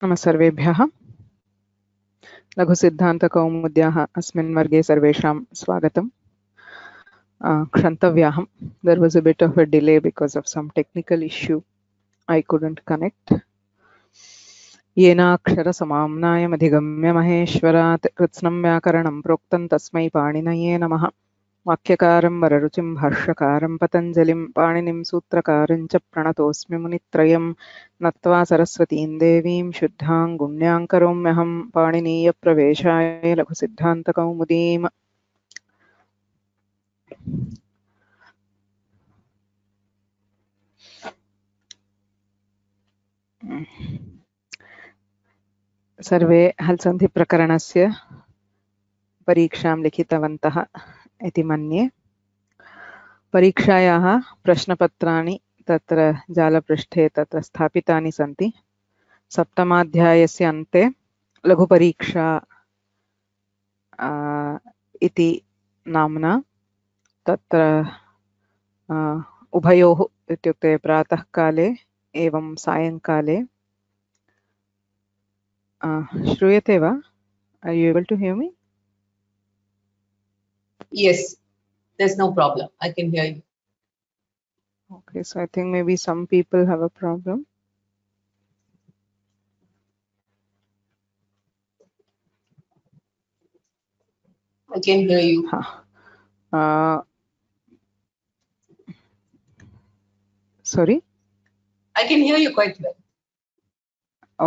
नमः सर्वेभ्यः। लघुसिद्धान्तकौमुद्याः अस्मिन् वर्गे सर्वेषां स्वागतम्। क्षन्तव्याहम्. There was a bit of a delay because of some technical issue. I couldn't connect. येनाक्षरसमाम्नायमधिगम्य महेश्वरात् कृत्स्नं व्याकरणं प्रोक्तं तस्मै पाणिनये नमः। वाक्यकारं वररुचिं भाष्यकारं पतञ्जलिं पाणिनिं सूत्रकारं च प्रणतोऽस्मि मुनित्रयं नत्वा सरस्वतीं देवीं शुद्धां गुण्यां करोम्यहं पाणिनीयप्रवेशाय लघुसिद्धान्तकौमुदीम्। सर्वे हल्सन्धिप्रकरणस्य परीक्षां लिखितवन्तः इति मन्ये। परीक्षायाः प्रश्नपत्राणि तत्र जालपृष्ठे तत्र स्थापितानि सन्ति। सप्तमाध्यायस्य अन्ते लघुपरीक्षा इति नाम्ना तत्र उभयोः इत्युक्ते प्रातःकाले एवं सायङ्काले श्रूयते वा? Are you able to hear me? Yes, there's no problem. I can hear you. Okay, so I think maybe some people have a problem. I can hear you. Sorry? I can hear you quite well.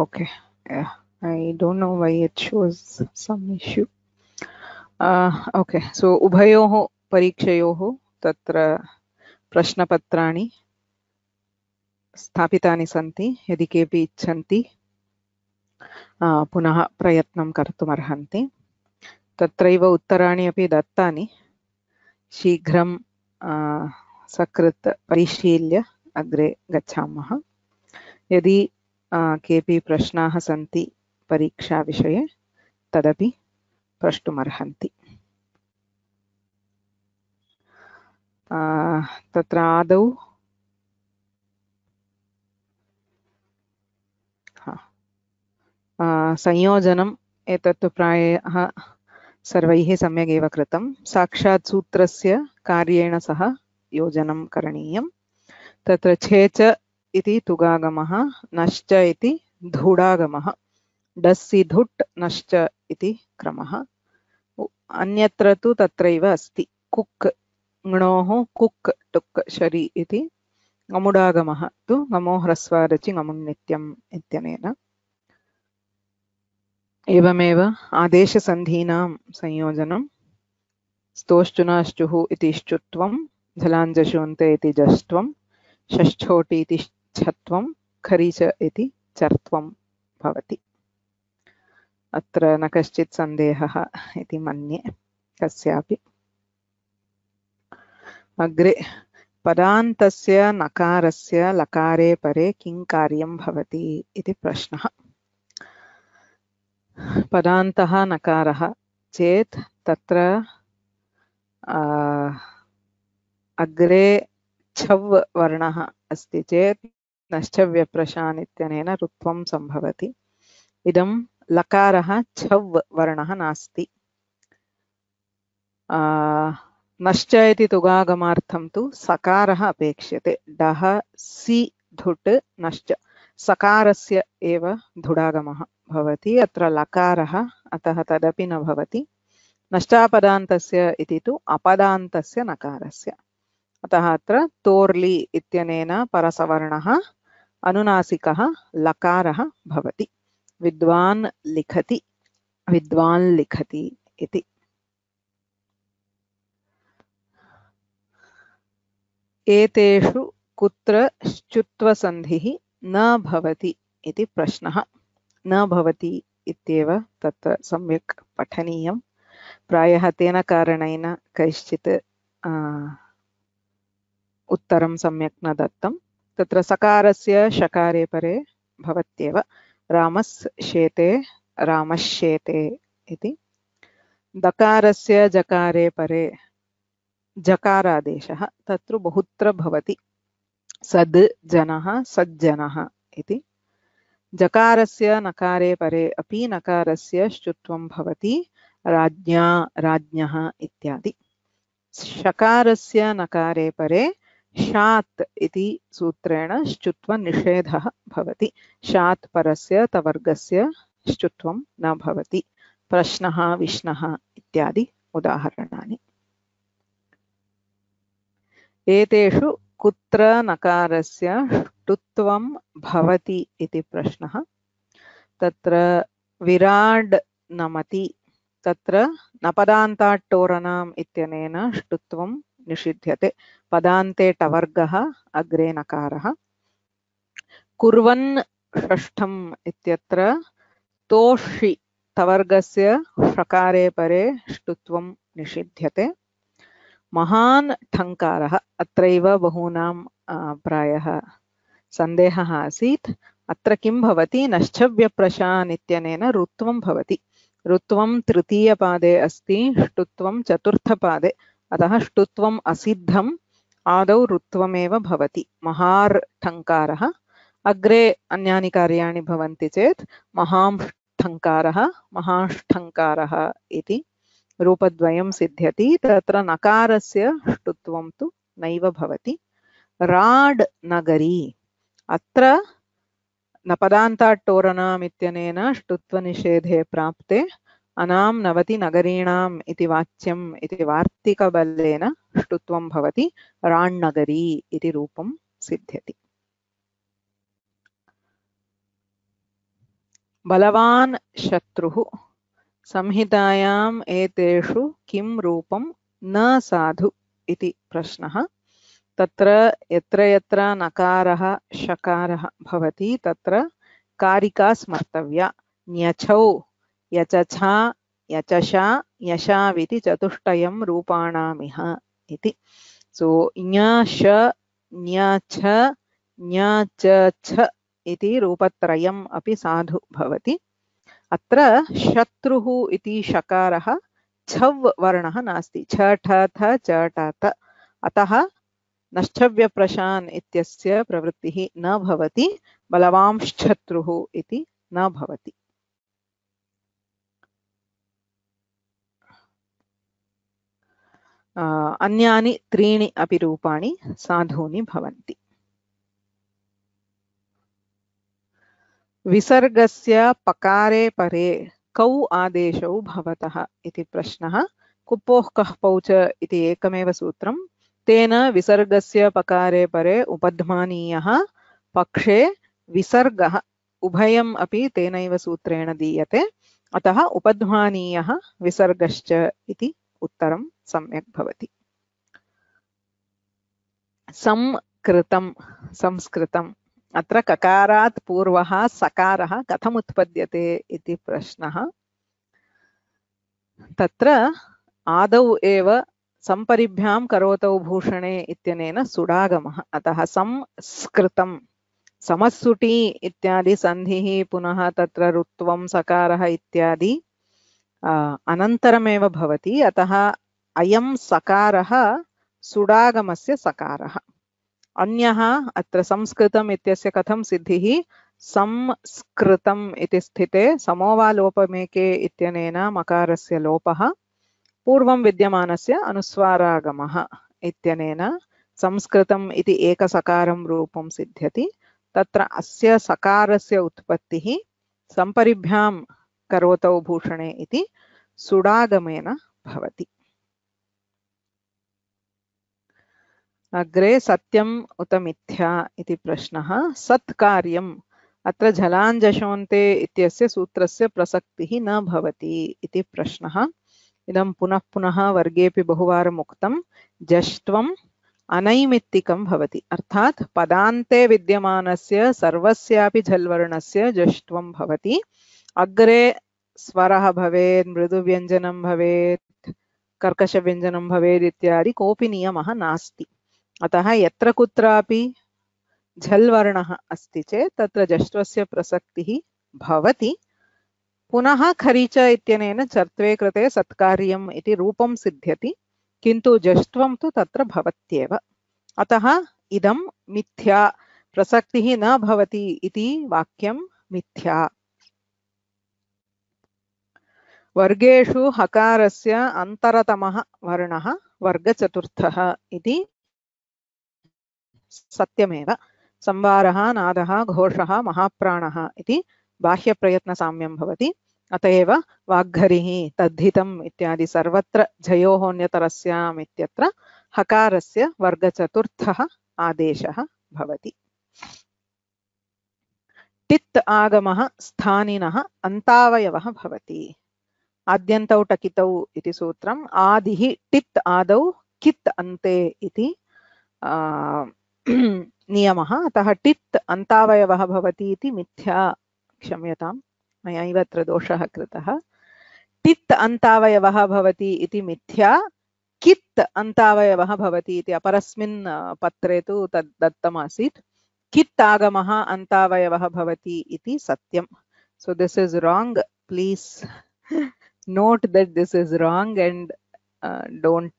Okay, yeah, I don't know why it shows some issue. Okay, so उभयोः परीक्षयोः तत्र प्रश्नपत्राणि स्थापितानि सन्ति। यदि केऽपि इच्छन्ति पुनः प्रयत्नं कर्तुमर्हन्ति। तत्रैव उत्तराणि अपि दत्तानि। शीघ्रं सकृत् परिशील्य अग्रे गच्छामः। यदि केऽपि प्रश्नाः सन्ति परीक्षाविषये तदपि प्रष्टुमर्हन्ति। तत्र आदौ संयोजनम् एतत् प्रायः सर्वैः सम्यगेव कृतं। साक्षात् सूत्रस्य कार्येण सह योजनं करणीयं। तत्र छेच इति तुगागमः, नश्च इति धूडागमः, डस्सि धुट् नश्च इति क्रमः। अन्यत्र तु तत्रैव अस्ति। कुक् ङ्णोः कुक् टुक् शरि इति गमुडागमः तु गमो ह्रस्वारचि गमुन्नित्यम् इत्यनेन। एवमेव आदेशसन्धीनां संयोजनं स्तोश्चुनाश्चुः इति श्चुत्वं, झलाञ्जशोन्ते इति जष्ट्वं, षष्ठोटि इति छत्वं, खरीच इति चर्त्वं भवति। अत्र न कश्चित् सन्देहः इति मन्ये कस्यापि। अग्रे पदान्तस्य नकारस्य लकारे परे किं कार्यं भवति इति प्रश्नः। पदान्तः नकारः चेत् तत्र अग्रे छव् वर्णः अस्ति चेत् नश्चव्यप्रशान् इत्यनेन रुत्वं सम्भवति। इदं लकारः छव् वर्णः नास्ति। नश्च इति तुगागमार्थं तु सकारः अपेक्ष्यते। डः सि धुट् नश्च सकारस्य एव धुडागमः भवति। अत्र लकारः, अतः तदपि न भवति। नश्चापदान्तस्य इति तु अपदान्तस्य नकारस्य। अतः अत्र तोर्लि इत्यनेन परसवर्णः अनुनासिकः लकारः भवति। विद्वान् लिखति, विद्वान् लिखति इति। एतेषु कुत्र श्चुत्वसन्धिः न भवति इति प्रश्नः। न भवति इत्येव तत्र सम्यक् पठनीयं। प्रायः तेन कारणेन कैश्चित् उत्तरं सम्यक् न दत्तं। तत्र सकारस्य शकारे परे भवत्येव। रामस्येते रामश्येते इति। दकारस्य जकारे परे जकारादेशः तत्र बहुत्र भवति। सद् जनः सज्जनः इति। जकारस्य नकारे परे अपि नकारस्य श्चुत्वं भवति राज्ञा राज्ञः इत्यादि। शकारस्य नकारे परे शात् इति सूत्रेण श्चुत्वनिषेधः भवति। शात् परस्य तवर्गस्य श्चुत्वं न भवति। प्रश्नः विष्णः इत्यादि उदाहरणानि। एतेषु कुत्र नकारस्य ष्टुत्वं भवति इति प्रश्नः। तत्र विराड् नमति तत्र नपदान्ताट्टोरणाम् इत्यनेन ष्टुत्वं निषिध्यते। पदान्ते टवर्गः अग्रे नकारः। कुर्वन् षष्ठम् इत्यत्र तोषि तवर्गस्य षकारे परे ष्टुत्वं निषिध्यते। महान् ठङ्कारः अत्रैव बहूनां प्रायः सन्देहः आसीत्। अत्र किं भवति? नश्चव्यप्रशान् इत्यनेन ऋत्वं भवति। ऋत्वं तृतीयपादे अस्ति, ष्टुत्वं चतुर्थपादे, अतः ष्टुत्वम् असिद्धम्, आदौ ऋत्वमेव भवति। महार् ठङ्कारः। अग्रे अन्यानि कार्याणि भवन्ति चेत् महांष्ठङ्कारः महाष्ठङ्कारः इति रूपद्वयं सिद्ध्यति। तत्र नकारस्य ष्टुत्वं तु नैव भवति। राड् नगरी अत्र नपदान्ताट्टोरणाम् इत्यनेन ष्टुत्वनिषेधे प्राप्ते अनां नवति नगरीणाम् इति वाच्यम् इति वार्तिकबलेन ष्टुत्वं भवति। राण्नगरी इति रूपं सिद्ध्यति। बलवान् शत्रुः। संहितायाम् एतेषु किं रूपं न साधु इति प्रश्नः। तत्र यत्र यत्र नकारः शकारः भवति तत्र कारिका स्मर्तव्या। न्यछौ यचछा यचषा यशाविति चतुष्टयं रूपाणामिह इति। सो ञश ञछ ञचछ इति रूपत्रयम् अपि साधु भवति। अत्र शत्रुः इति शकारः छव् वर्णः नास्ति। छ ठ थ च ट त, अतः नश्चव्यप्रशान् इत्यस्य प्रवृत्तिः न भवति। बलवांश्शत्रुः इति न भवति। अन्यानि त्रीणि अपि रूपाणि साधूनि भवन्ति। विसर्गस्य पकारे परे कौ आदेशौ भवतः इति प्रश्नः। कुप्पोः कः पौ च इति एकमेव सूत्रं। तेन विसर्गस्य पकारे परे उपध्मानीयः, पक्षे विसर्गः उभयम् अपि तेनैव सूत्रेण दीयते। अतः उपध्मानीयः विसर्गश्च इति उत्तरं सम्यक् भवति। संकृतं संस्कृतम्। अत्र ककारात् पूर्वः सकारः कथम् उत्पद्यते इति प्रश्नः। तत्र आदौ एव संपरिभ्यां करोतौ भूषणे इत्यनेन सुडागमः। अतः संस्कृतं। समस्सुटी इत्यादि सन्धिः पुनः तत्र ऋत्वं सकारः इत्यादि अनन्तरमेव भवति। अतः अयं सकारः सुडागमस्य सकारः। अन्यः अत्र संस्कृतम् इत्यस्य कथं सिद्धिः? संस्कृतम् इति स्थिते समोवालोपमेके इत्यनेन मकारस्य लोपः, पूर्वं विद्यमानस्य अनुस्वारागमः इत्यनेन संस्कृतम् इति एकसकारं रूपं सिद्ध्यति। तत्र अस्य सकारस्य उत्पत्तिः संपरिभ्यां करोतौ भूषणे इति सुडागमेन भवति। अग्रे सत्यम् उत मिथ्या इति प्रश्नः। सत्कार्यम्। अत्र झलाञ्जषोन्ते इत्यस्य सूत्रस्य प्रसक्तिः न भवति इति प्रश्नः। इदं पुनः पुनः वर्गेऽपि बहुवारम् उक्तं। जष्ट्वम् अनैमित्तिकं भवति, अर्थात् पदान्ते विद्यमानस्य सर्वस्यापि झल्वर्णस्य जष्ट्वं भवति। अग्रे स्वरः भवेत्, मृदुव्यञ्जनं भवेत्, कर्कशव्यञ्जनं भवेत् इत्यादि कोऽपि नियमः नास्ति। अतः यत्र कुत्रापि झल् वर्णः अस्ति चेत् तत्र जष्ट्वस्य प्रसक्तिः भवति। पुनः खरीच इत्यनेन चर्त्वे कृते सत्कार्यम् इति रूपं सिद्ध्यति, किन्तु जष्ट्वं तु तत्र भवत्येव। अतः इदं मिथ्या, प्रसक्तिः न भवति इति वाक्यं मिथ्या। वर्गेषु हकारस्य अन्तरतमः वर्णः वर्गचतुर्थः इति सत्यमेव। संवारः, नादः, घोषः, महाप्राणः इति बाह्यप्रयत्नसाम्यं भवति। अतएव वाग्घरिः, तद्धितम् इत्यादि सर्वत्र झयोः इत्यत्र हकारस्य वर्गचतुर्थः आदेशः भवति। टित् आगमः स्थानिनः अन्तावयवः भवति। आद्यन्तौ टकितौ इति सूत्रम्। आदिः टित् आदौ कित् अन्ते इति नियमः। अतः टित् अन्तावयवः भवति इति मिथ्या। क्षम्यताम्, मयैव अत्र दोषः कृतः। टित् अन्तावयवः भवति इति मिथ्या, कित् अन्तावयवः भवति इति अपरस्मिन् पत्रे तु तद् दत्तमासीत्। कित् आगमः अन्तावयवः भवति इति सत्यम्। So this is wrong. Please note that this is wrong and don't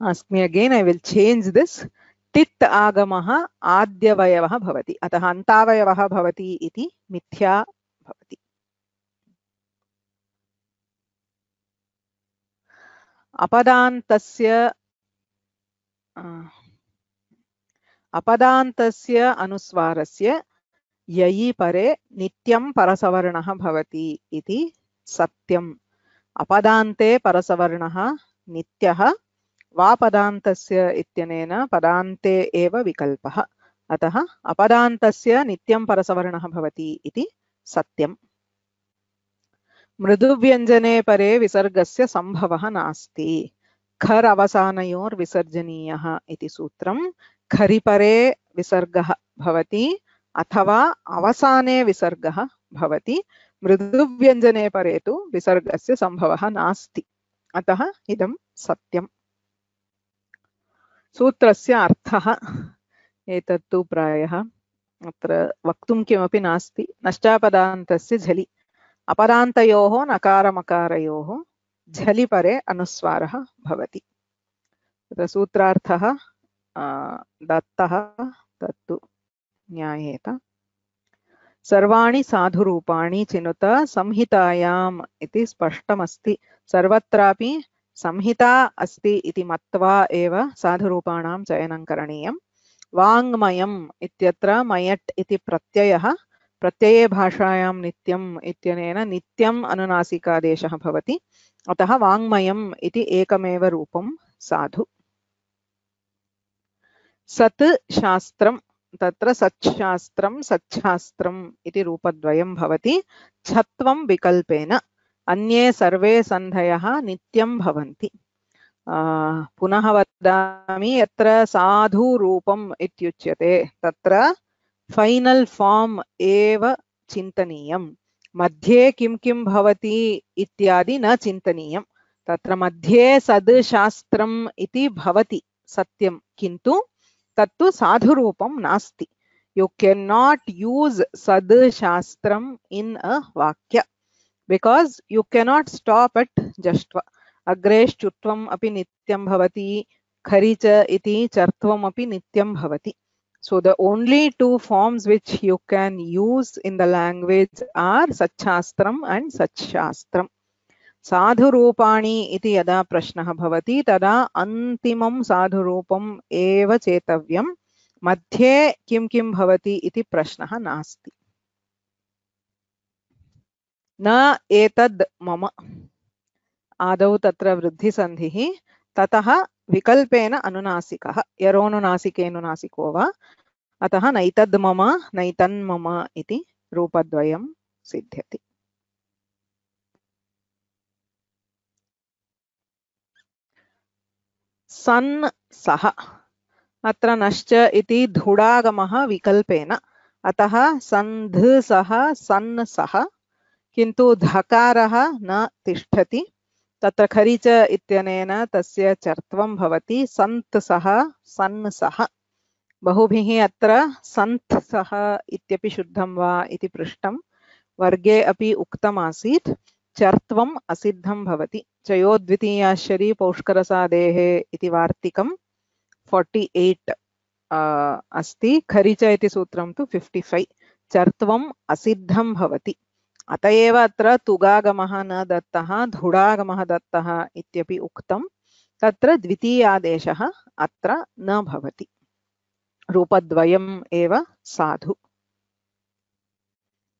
ask me again. I will change this. टित् आगमः आद्यवयवः भवति, अतः अन्तावयवः भवति इति मिथ्या भवति। अपदान्तस्य अनुस्वारस्य ययि परे नित्यं परसवर्णः भवति इति सत्यम्। अपदान्ते परसवर्णः नित्यः, वापदान्तस्य इत्यनेन पदान्ते एव विकल्पः। अतः अपदान्तस्य नित्यं परसवर्णः भवति इति सत्यम्। मृदुव्यञ्जने परे विसर्गस्य संभवः नास्ति। खर् अवसानयोर्विसर्जनीयः इति सूत्रम्। खरि परे विसर्गः भवति अथवा अवसाने विसर्गः भवति। मृदुव्यञ्जने परे तु विसर्गस्य संभवः नास्ति, अतः इदं सत्यम्। सूत्रस्य अर्थः एतत्तु प्रायः अत्र वक्तुं किमपि नास्ति। नष्टापदान्तस्य झलि, अपदान्तयोः नकारमकारयोः झलि परे अनुस्वारः भवति। तत्र सूत्रार्थः दत्तः, तत्तु ज्ञायेत। सर्वाणि साधुरूपाणि चिनुत संहितायाम् इति स्पष्टमस्ति। सर्वत्रापि संहिता अस्ति इति मत्वा एव साधुरूपाणां चयनं करणीयम्। वाङ्मयम् इत्यत्र मयट् इति प्रत्ययः, प्रत्यये भाषायां नित्यम् इत्यनेन नित्यम् अनुनासिकादेशः भवति। अतः वाङ्मयम् इति एकमेव रूपं साधु। सत् शास्त्रम्, तत्र सच्छास्त्रं सच्छास्त्रम् इति रूपद्वयं भवति। छत्वं विकल्पेन, अन्ये सर्वे सन्धयः नित्यं भवन्ति। पुनः वदामि, यत्र साधुरूपम् इत्युच्यते तत्र फैनल् फार्म् एव चिन्तनीयम्। मध्ये किं किं भवति इत्यादि न चिन्तनीयम्। तत्र मध्ये सद् शास्त्रम् इति भवति सत्यं, किन्तु तत्तु साधुरूपं नास्ति। You cannot use sad shastram in a vakya because you cannot stop at jashtva. Agresh chutvam api nityam bhavati, kharicha iti chartvam api nityam bhavati. So the only two forms which you can use in the language are sachshastram and sachshastram. साधुरूपाणि इति यदा प्रश्नः भवति तदा अन्तिमं साधुरूपम् एव चेतव्यम्। मध्ये किं किं भवति इति प्रश्नः नास्ति। न एतद् मम, आदौ तत्र वृद्धिसन्धिः, ततः विकल्पेन अनुनासिकः, यरोनुनासिकेनुनासिको वा, अतः नैतद् मम नैतन्मम इति रूपद्वयं सिद्ध्यति। सन् सः, अत्र नश्च इति धुडागमः विकल्पेन, अतः सन्ध सः सन् सः, किन्तु धकारः न तिष्ठति। तत्र खरिच इत्यनेन तस्य चर्त्वं भवति। सन्त् सः सन् सः। बहुभिः अत्र सन्त् सः इत्यपि शुद्धं वा इति पृष्टं। वर्गे अपि उक्तमासीत् चर्त्वम् असिद्धं भवति। चयोद्वितीयाश्चरी पौष्करसादेः इति वार्तिकं 48 अस्ति। खरिच इति सूत्रं तु 55। चर्त्वम् असिद्धं भवति। अत एव अत्र तुगागमः न दत्तः, धुडागमः दत्तः इत्यपि उक्तं। तत्र द्वितीयादेशः अत्र न भवति, रूपद्वयम् एव साधु।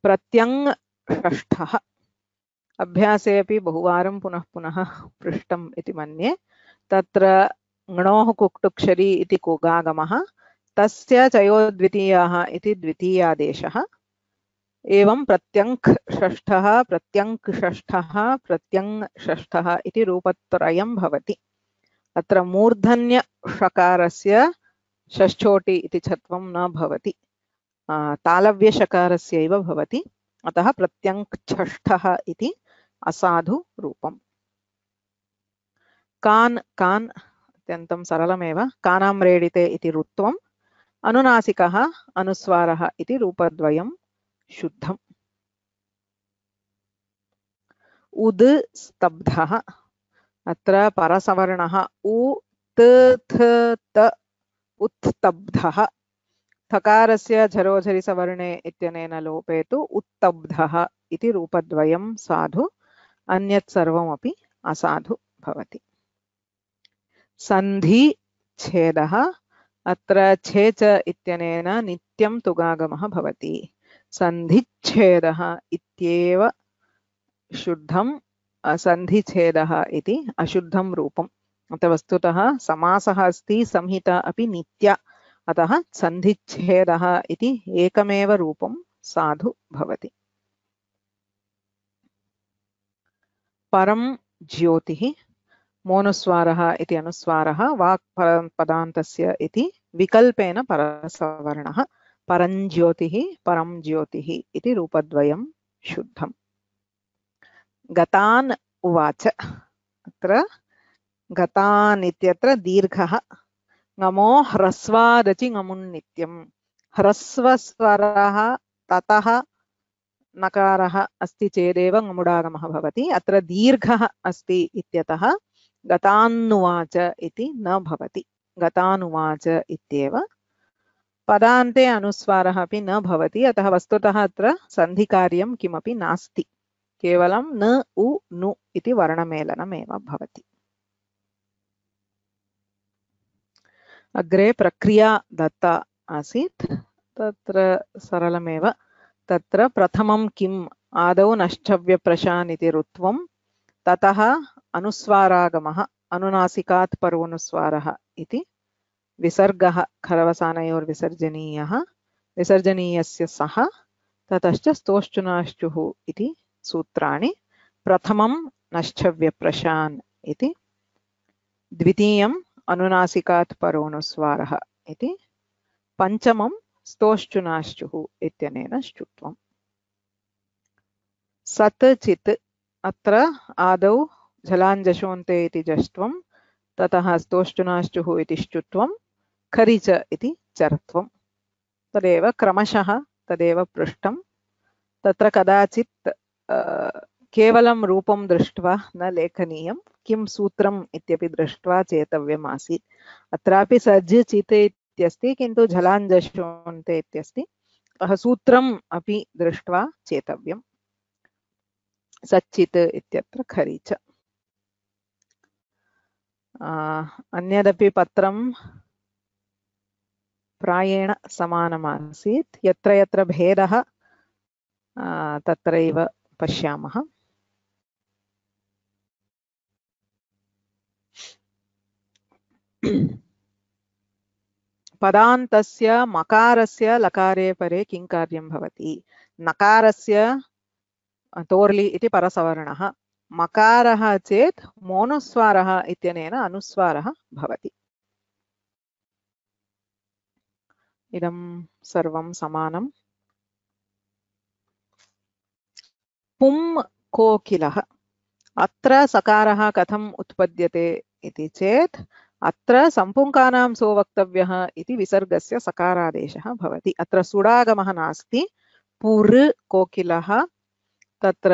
प्रत्यङ् षष्ठः अभ्यासे अपि बहुवारं पुनः पुनः पृष्टम् इति मन्ये। तत्र ङ्णोः कुक्तुक्षरी इति कुगागमः, तस्य चयोद्वितीयाः इति द्वितीयादेशः। एवं प्रत्यङ्क् षष्ठः, प्रत्यङ्क् षष्ठः, प्रत्यङ् षष्ठः इति रूपत्रयं भवति। अत्र मूर्धन्यषकारस्य षष्ठोटि इति छत्वं न भवति, तालव्यषकारस्यैव भवति। अतः प्रत्यङ्क् षष्ठः इति असाधु रूपम्। कान् कान् अत्यन्तं सरलमेव। कानाम्रेडिते इति रुत्वम्, अनुनासिकः अनुस्वारः इति रूपद्वयं शुद्धम्। उद् स्तब्धः, अत्र परसवर्णः उ त थ त उत्स्तब्धः। थकारस्य झरोझरिसवर्णे इत्यनेन लोपे तु उत्तब्धः इति रूपद्वयं साधु, अन्यत् सर्वमपि असाधु भवति। सन्धि छेदः, अत्र छेच इत्यनेन नित्यं तुगागमः भवति। सन्धिच्छेदः इत्येव शुद्धं, सन्धिच्छेदः इति अशुद्धं रूपम्। अतः वस्तुतः समासः अस्ति, संहिता अपि नित्या, अतः सन्धिच्छेदः इति एकमेव रूपं साधु भवति। परं ज्योतिः, मोनुस्वारः इति अनुस्वारः, वाक् पदान्तस्य इति विकल्पेन परसवर्णः। परञ्ज्योतिः, परं ज्योतिः इति रूपद्वयं शुद्धम्। गतान् उवाच, अत्र गतान् इत्यत्र दीर्घः। ङमो ह्रस्वादचि ङमुन्नित्यम्, ह्रस्वस्वरः ततः नकारः अस्ति चेदेव ङमुडागमः भवति। अत्र दीर्घः अस्ति इत्यतः गतान्नुवाच इति न भवति, गतानुवाच इत्येव। पदान्ते अनुस्वारः अपि न भवति, अतः वस्तुतः अत्र सन्धिकार्यं किमपि नास्ति, केवलं न उ नु इति वर्णमेलनमेव भवति। अग्रे प्रक्रिया दत्ता आसीत्, तत्र सरलमेव। तत्र प्रथमं किम्, आदौ नश्चव्यप्रशान् इति रुत्वं, ततः अनुस्वारागमः, अनुनासिकात् परोनुस्वारः इति विसर्गः खरवसानयोर्विसर्जनीयः, विसर्जनीयस्य सः, ततश्च स्तोश्चुनाश्चुः इति सूत्राणि। प्रथमं नश्चव्यप्रशान् इति, द्वितीयं अनुनासिकात् परोनुस्वारः इति, पञ्चमं स्तोश्चुनाश्चुः इत्यनेन श्चुत्वम्। सत् चित्, अत्र आदौ झलाञ्जशोन्ते इति जष्ट्वं, ततः स्तोश्चुनाश्चुः इति श्चुत्वं, खरिच इति चर्त्वं। तदेव क्रमशः तदेव पृष्टं। तत्र कदाचित् केवलं रूपं दृष्ट्वा न लेखनीयं, किं सूत्रम् इत्यपि दृष्ट्वा चेतव्यम् आसीत्। अत्रापि सज् चित् इत्यस्ति, किन्तु झलाञ्जशोन्ते इत्यस्ति, अतः सूत्रम् अपि दृष्ट्वा चेतव्यम्। सच्चित् इत्यत्र खरीच। अन्यदपि पत्रं प्रायेण समानमासीत्, यत्र यत्र भेदः तत्रैव पश्यामः। पदान्तस्य मकारस्य लकारे परे किं कार्यं भवति? नकारस्य तोर्लि इति परसवर्णः, मकारः चेत् मोनुस्वारः इत्यनेन अनुस्वारः भवति। इदं सर्वं समानम्। पुं कोकिलः, अत्र सकारः कथम् उत्पद्यते इति चेत्, अत्र सम्पुङ्कानां सोवक्तव्यः इति विसर्गस्य सकारादेशः भवति। अत्र सुडागमः नास्ति, पुर् कोकिलः, तत्र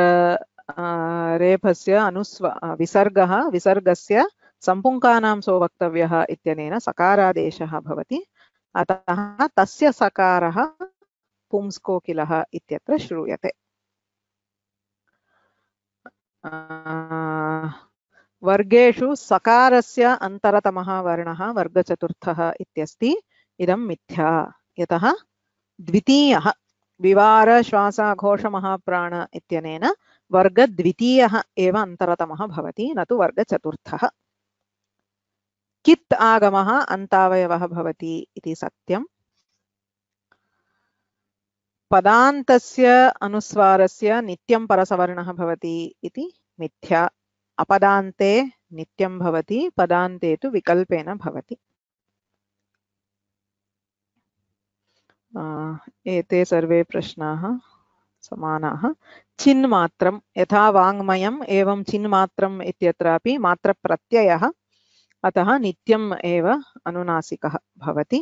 रेफस्य विसर्गः, विसर्गस्य सम्पुङ्कानां सोवक्तव्यः इत्यनेन सकारादेशः भवति। अतः तस्य सकारः पुंस्कोकिलः इत्यत्र श्रूयते। वर्गेषु सकारस्य अन्तरतमः वर्णः वर्गचतुर्थः इत्यस्ति। इदं मिथ्या, यतः द्वितीयः विवार श्वासाघोष महाप्राण इत्यनेन वर्गद्वितीयः एव अन्तरतमः भवति, न तु वर्गचतुर्थः। कित् आगमः अन्तावयवः भवति इति सत्यम्। पदान्तस्य अनुस्वारस्य नित्यं परसवर्णः भवति इति मिथ्या। अपदान्ते नित्यं भवति, पदान्ते तु विकल्पेन भवति। एते सर्वे प्रश्नाः समानाः। चिन्मात्रं यथा वाङ्मयम् एवं चिन्मात्रम् इत्यत्रापि मात्रप्रत्ययः, अतः नित्यम् एव अनुनासिकः भवति।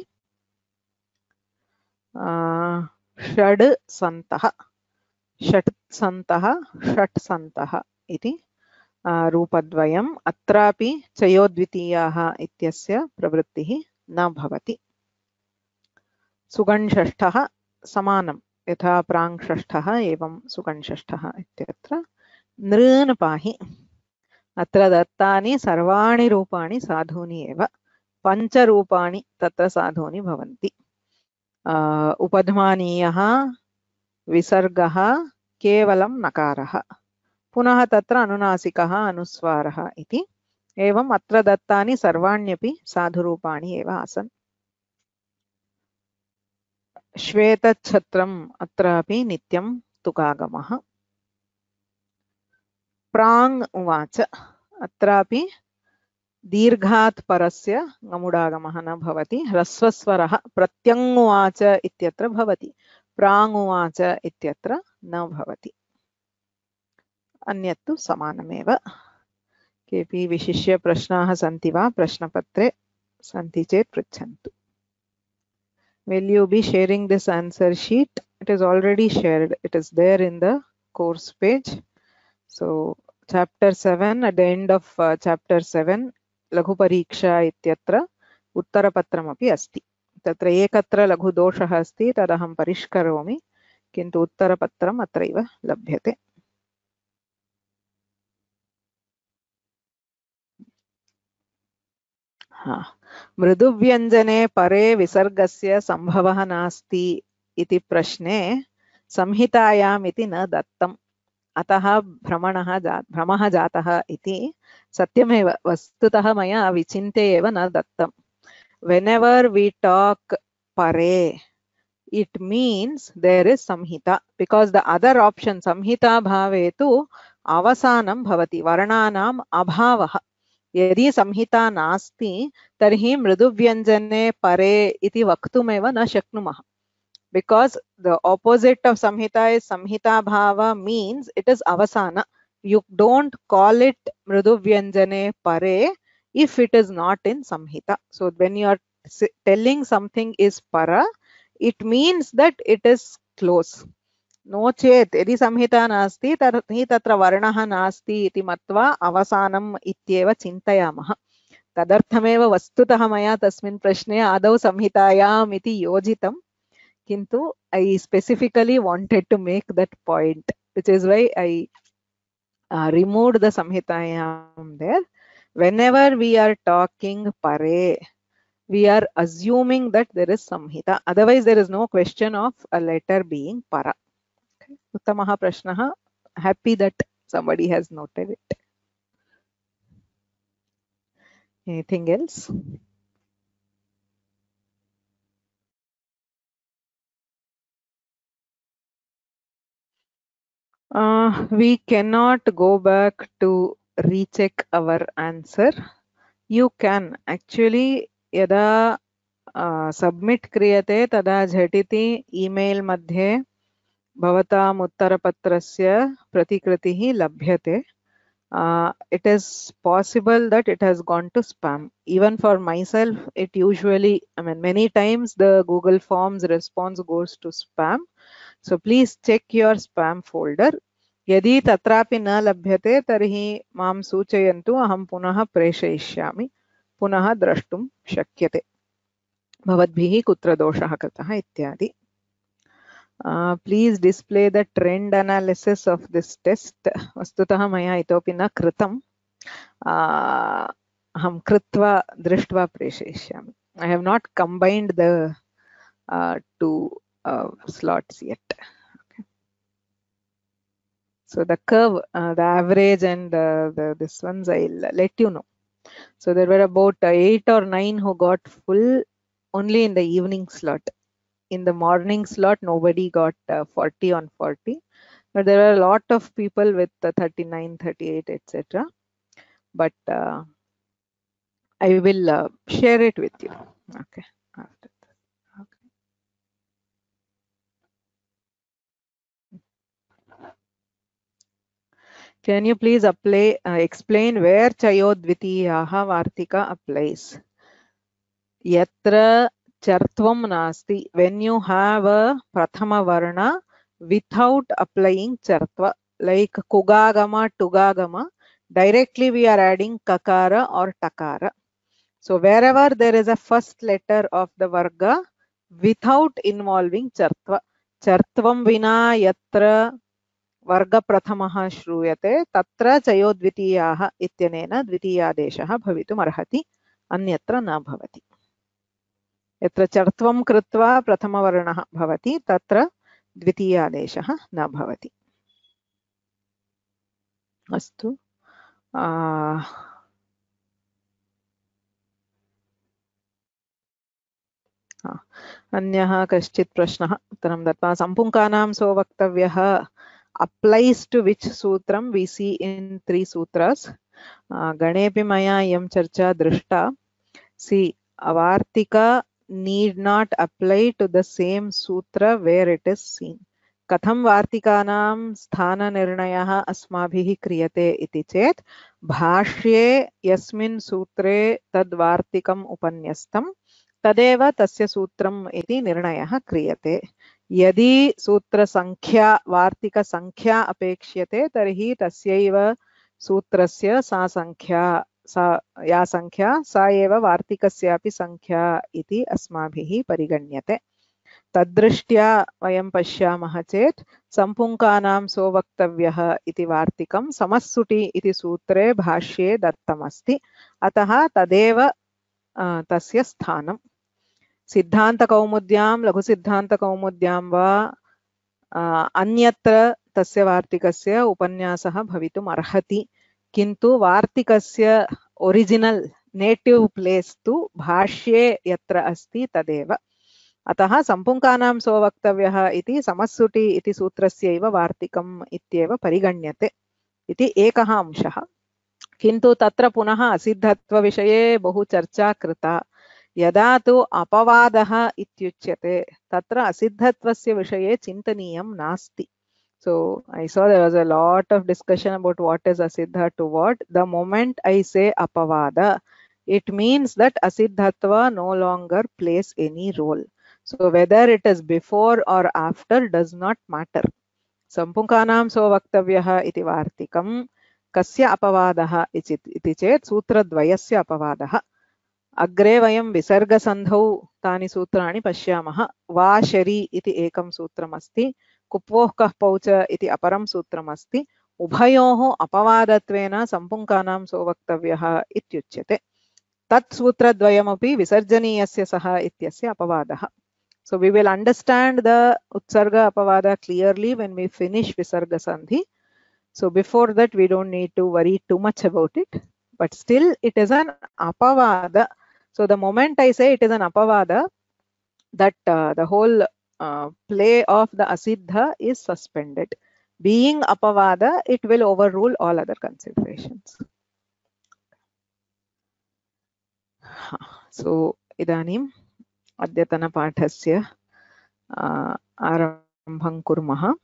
षड् सन्तः, षट् सन्तः, षट् सन्तः इति रूपद्वयम्। अत्रापि चयोद्वितीयाः इत्यस्य प्रवृत्तिः न भवति। सुगणषष्ठः समानं, यथा प्राङ्षष्ठः एवं सुगणषष्ठः इत्यत्र। नृन् पाहि, अत्र दत्तानि सर्वाणि रूपाणि साधूनि एव, पञ्चरूपाणि तत्र साधूनि भवन्ति। उपध्मानीयः विसर्गः केवलं नकारः, पुनः तत्र अनुनासिकः अनुस्वारः इति। एवम् अत्र दत्तानि सर्वाण्यपि साधुरूपाणि एव आसन्। श्वेतच्छत्रम् अत्रापि नित्यं तुकागमः। प्राङ् उवाच, अत्रापि दीर्घात् परस्य गमुडागमः न भवति। ह्रस्वस्वरः प्रत्यङ्उवाच इत्यत्र भवति, प्राङ्उवाच इत्यत्र न भवति। अन्यत्तु समानमेव। केऽपि विशिष्य प्रश्नाः सन्ति वा प्रश्नपत्रे? सन्ति चेत् पृच्छन्तु। Will you be sharing this answer sheet? It is already shared. It is there in the course page. So chapter 7, at the end of chapter 7, लघु परीक्षा इत्यत्र उत्तरपत्रमपि अस्ति। तत्र एकत्र लघु दोषः अस्ति, तदहं परिष्करोमि, किन्तु उत्तरपत्रम् अत्रैव लभ्यते। मृदुव्यञ्जने परे विसर्गस्य सम्भवः नास्ति इति प्रश्ने संहितायाम् इति न दत्तम्, अतः भ्रमः जातः इति सत्यमेव। वस्तुतः मया विचिन्त्य एव न दत्तम्। Whenever we talk pare, it means there is samhita, because the other option samhita bhave tu avasanam bhavati, varnanam abhavah. यदि संहिता नास्ति तर्हि मृदुव्यञ्जने परे इति वक्तुमेव न शक्नुमः, because the opposite of samhita is samhita bhava, means it is avasana. You don't call it mriduvyanjane pare if it is not in samhita. So when you are telling something is para, it means that it is close. नो चेत् यदि संहिता नास्ति तर्हि तत्र वर्णः नास्ति इति मत्वा अवसानम् इत्येव चिन्तयामः। तदर्थमेव वस्तुतः मया तस्मिन् प्रश्ने आदौ संहितायाम् इति योजितं, किन्तु I specifically wanted to make that point, which is why I removed the samhitayam there. Whenever we are talking pare, we are assuming that there is samhita, otherwise there is no question of a letter being para. Uttamah prashnah. Happy that somebody has noted it. Anything else? We cannot go back to recheck our answer. You can actually yada submit kriyate tada jhatiti email madhye भवताम् उत्तरपत्रस्य प्रतिकृतिः लभ्यते. It is possible that it has gone to spam. Even for myself, it usually, many times the Google Forms response goes to spam. So please check your spam folder. यदि तत्रापि न लभ्यते तर्हि मां सूचयन्तु, अहं पुनः प्रेषयिष्यामि, पुनः द्रष्टुं शक्यते भवद्भिः कुत्र दोषः कृतः इत्यादि. Please display the trend analysis of this test. वस्तुतः मया इतोपि न कृतम्. अहं कृत्वा दृष्ट्वा प्रेषयिष्यामि. I have not combined the two slots yet. Okay. So the curve, the average and this ones I'll let you know. So there were about 8 or 9 who got full only in the evening slot. In the morning slot, nobody got 40 on 40. But there are a lot of people with 39, 38, etc. But I will share it with you. Okay. After that. Okay. Can you please explain where Chayodvitiyaha Vartika applies? Yatra chartvam nasti. When you have a prathama varna without applying chartva, like kugagama, tugagama, directly we are adding kakara or takara. So wherever there is a first letter of the varga without involving chartva, chartvam vina yatra वर्ग प्रथमः श्रूयते तत्र चयोद्वितीयाः इत्यनेन द्वितीयादेशः भवितुम् अर्हति, अन्यत्र न भवति. यत्र चर्त्वं कृत्वा प्रथमवर्णः भवति तत्र द्वितीयादेशः न भवति. अस्तु. अन्यः कश्चित् प्रश्नः उत्तरं दत्त्वा सम्पुङ्कानां स्ववक्तव्यः applies to which sutram we see in 3 sutras. Ganepi maya yam charcha drishta. See, avartika need not apply to the same sutra where it is seen. Katham vartikanam sthana nirnayah asmabhihi kriyate iti chet bhashye yasmin sutre tad vartikam upanyastam तदेव तस्य सूत्रम् इति निर्णयः क्रियते. यदि सूत्र संख्या वार्तिक संख्या अपेक्ष्यते तर्हि तस्यैव सूत्रस्य सा संख्या या संख्या सा एव वार्तिकस्यापि संख्या इति अस्माभिः परिगण्यते. तद्दृष्ट्या वयं पश्यामः चेत् सम्पुङ्कानां स्ववक्तव्यः इति वार्तिकं समस्सुटि इति सूत्रे भाष्ये दत्तमस्ति. अतः तदेव तस्य स्थानम्. सिद्धान्तकौमुद्यां लघुसिद्धान्तकौमुद्यां वा अन्यत्र तस्य वार्तिकस्य उपन्यासः भवितुम् अर्हति, किन्तु वार्तिकस्य ओरिजिनल नेटिव प्लेस तु भाष्ये यत्र अस्ति तदेव. अतः सम्पुङ्कानां स्ववक्तव्यः इति समस्सुटि इति सूत्रस्यैव वार्तिकम् इत्येव परिगण्यते इति एकः अंशः. किन्तु तत्र पुनः असिद्धत्वविषये बहु चर्चा कृता. यदा तु अपवादः इत्युच्यते तत्र असिद्धत्वस्य विषये चिन्तनीयं नास्ति. So I saw there was a lot of discussion about what is asiddha to what. The moment I say apavada, it means that asiddhatva no longer plays any role. So whether it is before or after does not matter. Sampunkanam svavaktavyah iti vartikam kasya apavadah iti chet sutradvayasya apavadah. अग्रे वयं विसर्गसन्धौ तानि सूत्राणि पश्यामः. वा शरी इति एकं सूत्रमस्ति, कुप्वोः कः पौच इति अपरं सूत्रमस्ति. उभयोः अपवादत्वेन सम्पुङ्कानां स्ववक्तव्यः इत्युच्यते. तत् सूत्रद्वयमपि विसर्जनीयस्य सः इत्यस्य अपवादः. So we will understand the utsarga apavada clearly when we finish visarga sandhi. So before that we don't need to worry too much about it, but still it is an apavada. So the moment I say it is an apavada, that the whole play of the asiddha is suspended. Being apavada, it will overrule all other considerations. So idanim adyatana pathasya आरम्भं कुर्मः.